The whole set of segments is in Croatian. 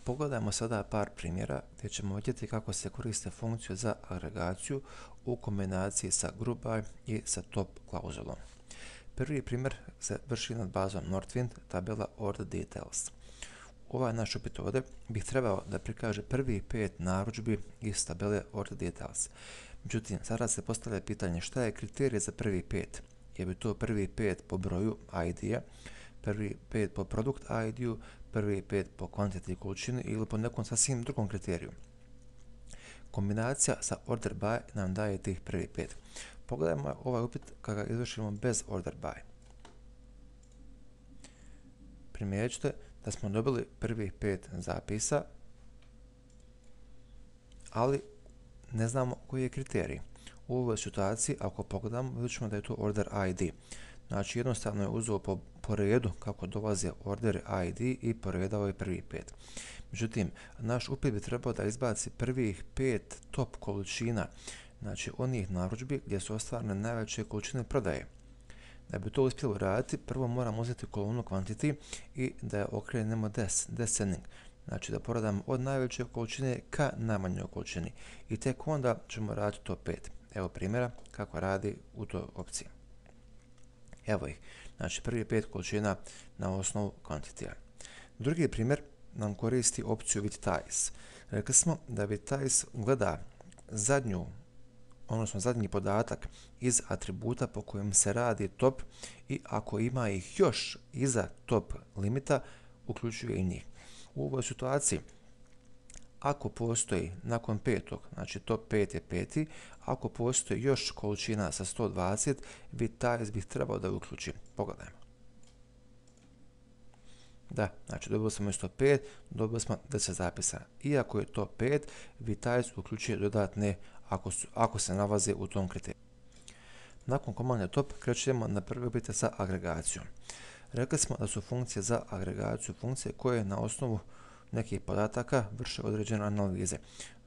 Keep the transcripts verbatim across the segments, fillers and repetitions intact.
Pogledajmo sada par primjera gdje ćemo vidjeti kako se koriste funkciju za agregaciju u kombinaciji sa group by i sa top klauzulom. Prvi primjer se vrši nad bazom Northwind, tabela order details. Ovaj naš upit ovdje bih trebao da prikaže prvi pet narudžbi iz tabele order details. Međutim, sada se postavlja pitanje šta je kriterij za prvi pet. Je bi to prvi pet po broju I D-a, prvi pet po produkt I D-u, prvi pet po kvantiti količini ili po nekom sasvim drugom kriteriju. Kombinacija sa order by nam daje tih prvi pet. Pogledajmo ovaj upit kada ga izvršimo bez order by. Primijetit ćete da smo dobili prvih pet zapisa, ali ne znamo koji je kriterij. U ovoj situaciji, ako pogledamo, vidjet ćemo da je to order I D. Znači, jednostavno je uzeo po, po redu kako dolaze order I D i poredao je prvi pet. Međutim, naš upit bi trebao da izbaci prvih pet top količina, znači onih narudžbi gdje su ostvarene najveće količine prodaje. Da bi to uspjelo raditi, prvo moramo uzeti kolonu quantity i da je okrenemo des, descending. Znači da poradamo od najveće količine ka najmanjoj količini. I tek onda ćemo raditi top pet. Evo primjera kako radi u toj opciji. Evo ih. Znači prvi pet količina na osnovu quantity. Drugi primjer nam koristi opciju with ties. Rekli smo da with ties gleda zadnju, odnosno zadnji podatak iz atributa po kojem se radi top i ako ima ih još iza top limita, uključuje i njih. U ovoj situaciji, ako postoji nakon petog, znači top pet je peti, ako postoji još količina sa sto dvadeset, with ties bih trebao da uključim. Pogledajmo. Da, znači dobili smo isto pet, dobili smo deset zapisa. Iako je to pet, with ties uključuje dodatne ako, su, ako se nalaze u tom kriteriju. Nakon komande top krećemo na prvi upit sa agregacijom. Rekli smo da su funkcije za agregaciju funkcije koje na osnovu nekih podataka vrše određene analize,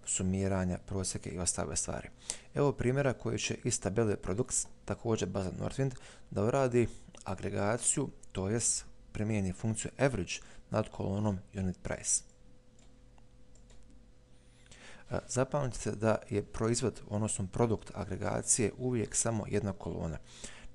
sumiranja, prosjeke i ostale stvari. Evo primjera koji će iz tabele products, također baza Northwind, da uradi agregaciju, to jest primijeni funkciju average nad kolonom unit price. Zapamtite da je proizvod, odnosno produkt agregacije uvijek samo jedna kolona.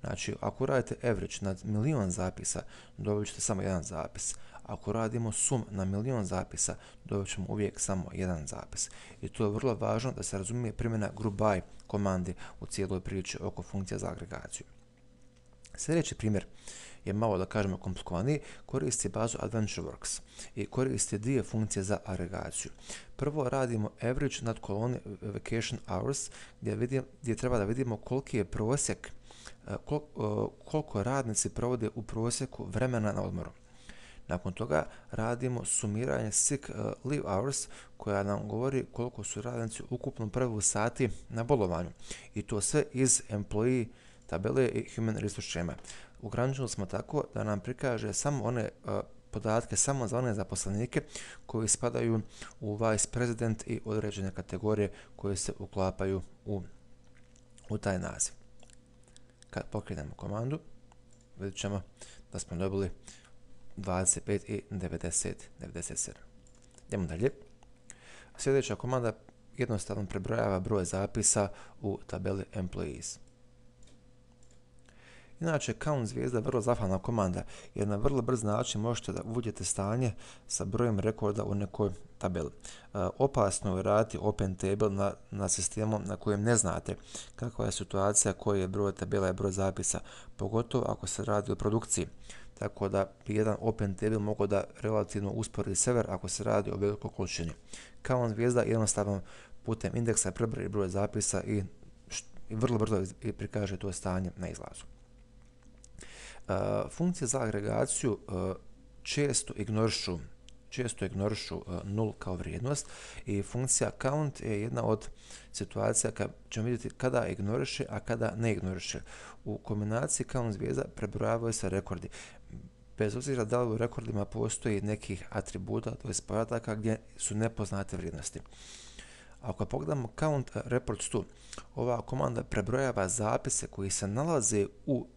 Znači, ako radite average nad milion zapisa, dobit ćete samo jedan zapis. Ako radimo sum na milion zapisa, dobit ćemo uvijek samo jedan zapis. I to je vrlo važno da se razumije primjena group by komande u cijeloj priči oko funkcija za agregaciju. Sljedeći primjer je malo, da kažemo, komplikovaniji, koristi bazu AdventureWorks i koristi dvije funkcije za agregaciju. Prvo radimo average nad koloni vacation hours, gdje, vidim, gdje treba da vidimo koliki je prosjek, kol, koliko radnici provode u prosjeku vremena na odmoru. Nakon toga radimo sumiranje sick leave hours, koja nam govori koliko su radnici ukupno prvi sati na bolovanju. I to sve iz employee tabele i human resource schema. Ograničili smo tako da nam prikaže samo one uh, podatke samo za one zaposlenike koji spadaju u vice president i određene kategorije koje se uklapaju u, u taj naziv. Kad pokrenemo komandu, vidjet ćemo da smo dobili dvadeset pet i devedeset, devedeset sedam. Idemo dalje. Sljedeća komanda jednostavno prebrojava broj zapisa u tabeli employees. Inače, count zvijezda je vrlo zahvalna komanda, jer na vrlo brz način možete da uvidite stanje sa brojem rekorda u nekoj tabeli. E, opasno je raditi open table na, na sistemu na kojem ne znate kakva je situacija, koji je broj tabela i broj zapisa, pogotovo ako se radi o produkciji. Tako da bi jedan open table mogao da relativno uspori server ako se radi o velikoj količini. Count zvijezda jednostavno putem indeksa prebroji broj zapisa i, i vrlo brzo prikaže to stanje na izlazu. Uh, funkcije za agregaciju uh, često ignorišu, često ignorišu uh, nul kao vrijednost i funkcija count je jedna od situacija kad ćemo vidjeti kada ignoriše, a kada ne ignoriše. U kombinaciji count zvijezda prebrojavaju se rekordi. Bez obzira da li u rekordima postoji nekih atributa, to je podataka gdje su nepoznate vrijednosti. Ako pogledamo count reports tu, ova komanda prebrojava zapise koji se nalaze u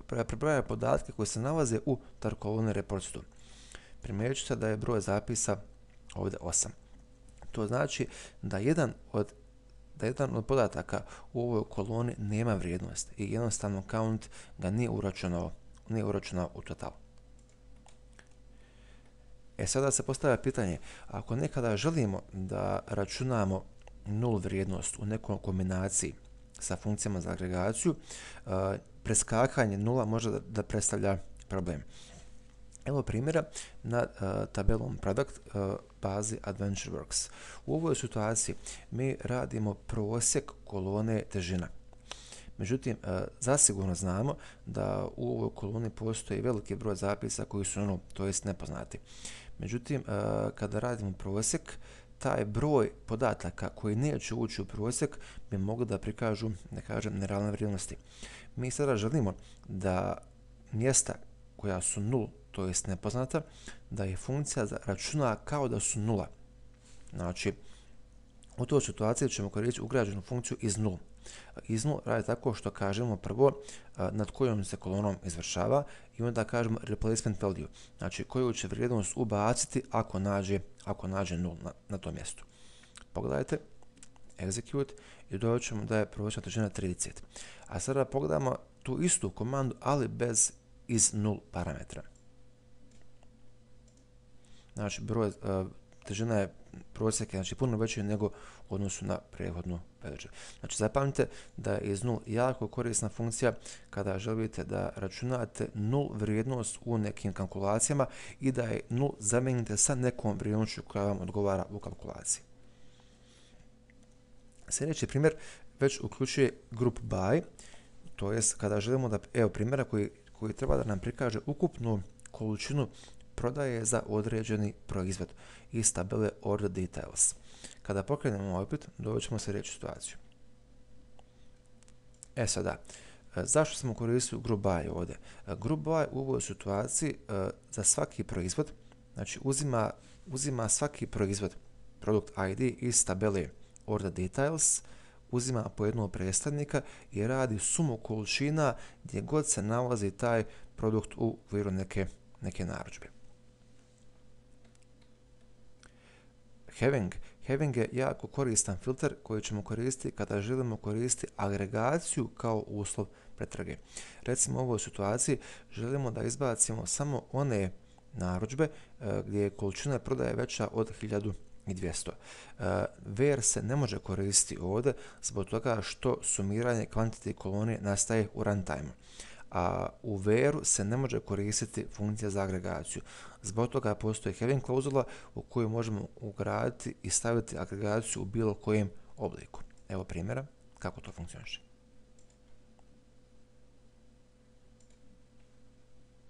prebrojava podatke koji se nalaze u tar koloni reports tu. Primijetit ćete da je broj zapisa ovdje osam. To znači da jedan od da jedan od podataka u ovoj koloni nema vrijednost i jednostavno count ga nije uračunao, nije uračunao u total. E sada se postavlja pitanje, ako nekada želimo da računamo nul vrijednost u nekoj kombinaciji sa funkcijama za agregaciju, preskakanje nula može da, da predstavlja problem. Evo primjera na uh, tabelom product uh, bazi AdventureWorks. U ovoj situaciji mi radimo prosjek kolone težina. Međutim, uh, zasigurno znamo da u ovoj koloni postoji veliki broj zapisa koji su ono, to jest nepoznati. Međutim, uh, kada radimo prosjek, taj broj podataka koji neće ući u prosjek bi mogli da prikažu, ne kažem, nerealne vrijednosti. Mi sada želimo da mjesta koja su nul, to jest nepoznata, da je funkcija računa kao da su nula. Znači, u toj situaciji ćemo koristiti ugrađenu funkciju iz nul. Iz nul radi tako što kažemo prvo nad kojom se kolonom izvršava i onda kažemo replacement value, znači koju će vrijednost ubaciti ako nađe, ako nađe nul na, na tom mjestu. Pogledajte, execute i dobit ćemo da je prosječna težina trideset. A sada pogledamo tu istu komandu, ali bez iz nul parametra. Znači, broj, uh, težina je prosjeka, znači puno veći nego u odnosu na prethodnu predodžbu. Znači, zapamtite da je iz nul jako korisna funkcija kada želite da računate nul vrijednost u nekim kalkulacijama i da je nul zamijenite sa nekom vrijednošću koja vam odgovara u kalkulaciji. Sljedeći primjer već uključuje group by, to jest kada želimo da, evo primjera koji, koji treba da nam prikaže ukupnu količinu prodaje za određeni proizvod iz tabele order details. Kada pokrenemo opet, dobit ćemo sljedeću situaciju. E sada, zašto smo koristili group by ovdje? Group by u ovoj situaciji za svaki proizvod, znači uzima, uzima svaki proizvod, product I D iz tabele order details, uzima po jednog predstavnika i radi sumu količina gdje god se nalazi taj produkt u okviru neke, neke narudžbe. Having. Having je jako koristan filter koji ćemo koristiti kada želimo koristiti agregaciju kao uslov pretrage. Recimo u ovoj situaciji želimo da izbacimo samo one narudžbe e, gdje je količina prodaje veća od hiljadu dvjesto. Uh, where se ne može koristiti ovdje zbog toga što sumiranje quantity kolonije nastaje u runtime. A u where se ne može koristiti funkcija za agregaciju. Zbog toga postoji having klauzula u kojoj možemo ugraditi i staviti agregaciju u bilo kojem obliku. Evo primjera kako to funkcioniše.